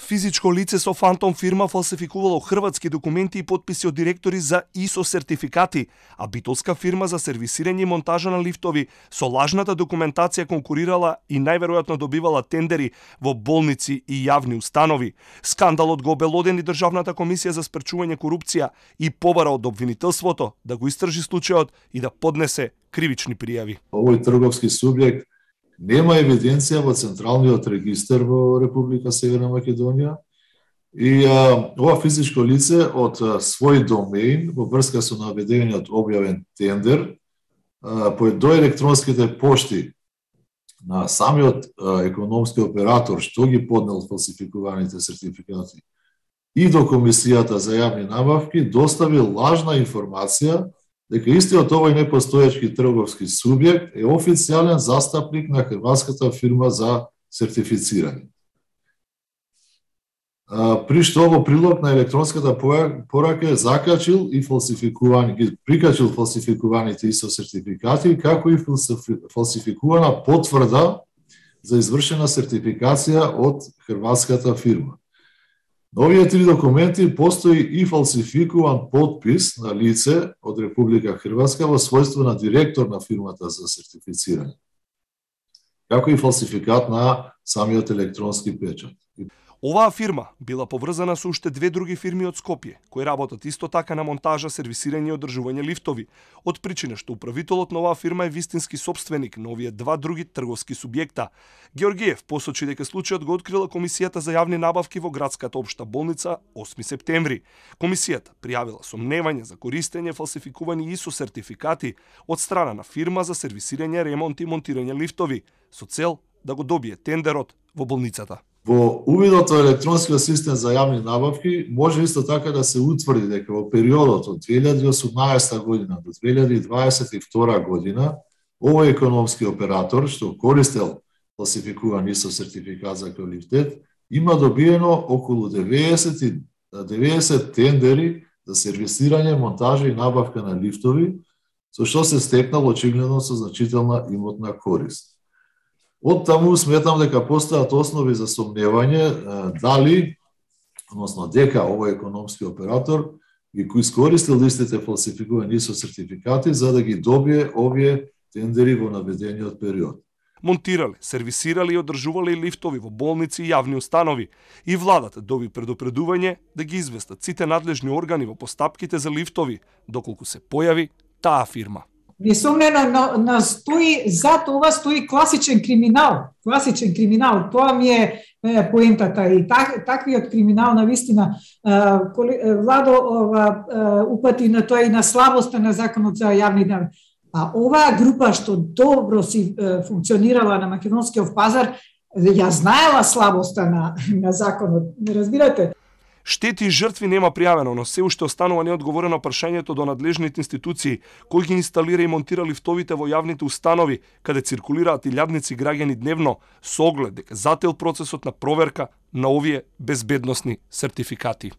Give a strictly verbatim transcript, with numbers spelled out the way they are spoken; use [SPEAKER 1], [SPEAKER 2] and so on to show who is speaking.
[SPEAKER 1] Физичко лице со фантом фирма фалсификувало хрватски документи и потписи од директори за ай ес о сертификати, а битолска фирма за сервисирање и монтажа на лифтови со лажната документација конкурирала и најверојатно добивала тендери во болници и јавни установи. Скандалот го обелодени Државната комисија за спречување корупција и побара од обвинителството да го истражи случајот и да поднесе кривични пријави.
[SPEAKER 2] Овој трговски субјект нема евиденција во Централниот регистар во Република Северна Македонија и а, ова физичко лице од а, свој домеин во врска со наведениот објавен тендер а, по до електронските пошти на самиот а, економски оператор што ги поднел фалсификуваните сертификати и до Комисијата за јавни набавки доставил лажна информација дека истиот овој непостоечки трговски субјект е официјален застапник на хрватската фирма за сертифицирање. При што во прилог на електронската порака закачил и фалсификувани, ги прикачил фалсификуваните ай ес о сертификати, како и фалсификувана потврда за извршена сертификација од хрватската фирма. На овие три документи постои и фалсификуван потпис на лице од Република Хрватска во својство на директор на фирмата за сертифицирање, како и фалсификат на самиот електронски печат.
[SPEAKER 1] Оваа фирма била поврзана со уште две други фирми од Скопје, кои работат исто така на монтажа, сервисирање и одржување лифтови, од причина што управителот на оваа фирма е вистински сопственик на овие два други трговски субјекта. Георгиев посочи дека случајот го открила Комисијата за јавни набавки во градската општа болница осми септември. Комисијата пријавила сомневање за користење фалсификувани ай ес о сертификати од страна на фирма за сервисирање, ремонт и монтирање лифтови, со цел да го добие тендерот во болницата.
[SPEAKER 2] Во увидот во електронскиот систем за јавни набавки може исто така да се утврди дека во периодот од две илјади и осумнаесета година до две илјади и дваесет и втора година овој економски оператор што користел фалсификуван ай ес о сертификат за квалитет има добиено околу деветдесет тендери за сервисирање, монтажа и набавка на лифтови, со што се стекнал очигледно со значителна имотна корист. Од таму сметам дека постојат основи за сомневање дали, односно дека овој економски оператор ги искористил истите фалсификувани ай ес о сертификати за да ги добие овие тендери во наведениот период.
[SPEAKER 1] Монтирале, сервисирале и одржувале лифтови во болници и јавни установи и владата доби предупредување да ги известат сите надлежни органи во постапките за лифтови доколку се појави таа фирма.
[SPEAKER 3] Несомнено, настои, за това стои класичен криминал. Класичен криминал, тоа ми е, е поентата и так, таквиот криминал на вистина Владо ова, упати на тоа и на слабоста на законот за јавни набавки. А оваа група што добро си е, функционирала на македонскиот пазар, ја знаела слабоста на, на законот. Не разбирате?
[SPEAKER 1] Штети и жртви нема пријавено, но се уште останува неодговорено прашањето до надлежните институции кои ги инсталира и монтира лифтовите во јавните установи, каде циркулираат илјадници граѓани дневно, со оглед дека зател процесот на проверка на овие безбедносни сертификати.